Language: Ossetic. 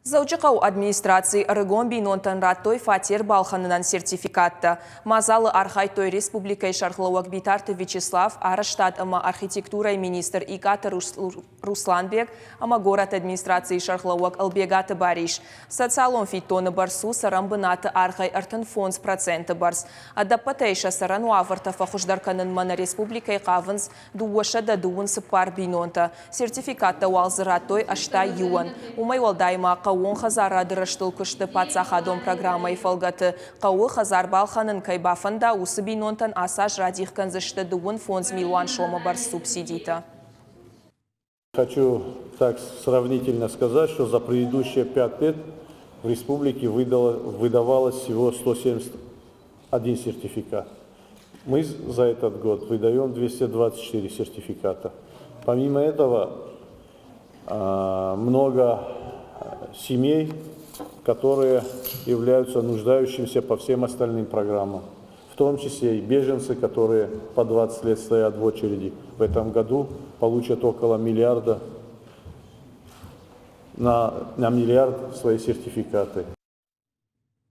Дзӕуджыхъӕуы администрацийы ӕрыгон бинонтӕн радтой фатер балхӕнынӕн сертификаттӕ. Мадзалы архайдтой республикӕйы сӕргълӕууӕг Битарты Вячеслав, арӕзтад ӕмӕ архитектурӕйы министр Икъаты Русланбег ӕмӕ горӕты администрацийы сӕргълӕууӕг Ӕлбегаты Барис. Социалон фиддоны бӕрц у цӕрӕн бынаты аргъӕй 35% бӕрц. Ӕдӕппӕтӕй сӕ цӕрӕн уавӕртӕ фӕхуыздӕр кӕнынмӕ нӕ республикӕйы хъавынц 224 бинонтӕ. Сертификаттӕ уал дзы радтой 81-ӕн. Уымӕй уӕлдай ма хъӕууон хӕдзарады рӕзтыл куысты паддзахадон программӕйы фӕлгӕты хъӕуы хӕдзар балхӕнын кӕй бафӕнда, уыцы бинонтӕн ацы аз радих кӕндзысты 55 милуан сомы бӕрц субсидитӕ. Хочу так сравнительно сказать, что за предыдущие 5 лет в республике выдавалось всего 171 сертификат. Мы за этот год выдаем 224 сертификата. Помимо этого, много семей, которые являются нуждающимися по всем остальным программам, в том числе и беженцы, которые по 20 лет стоят в очереди, в этом году получат около миллиарда на миллиард свои сертификаты.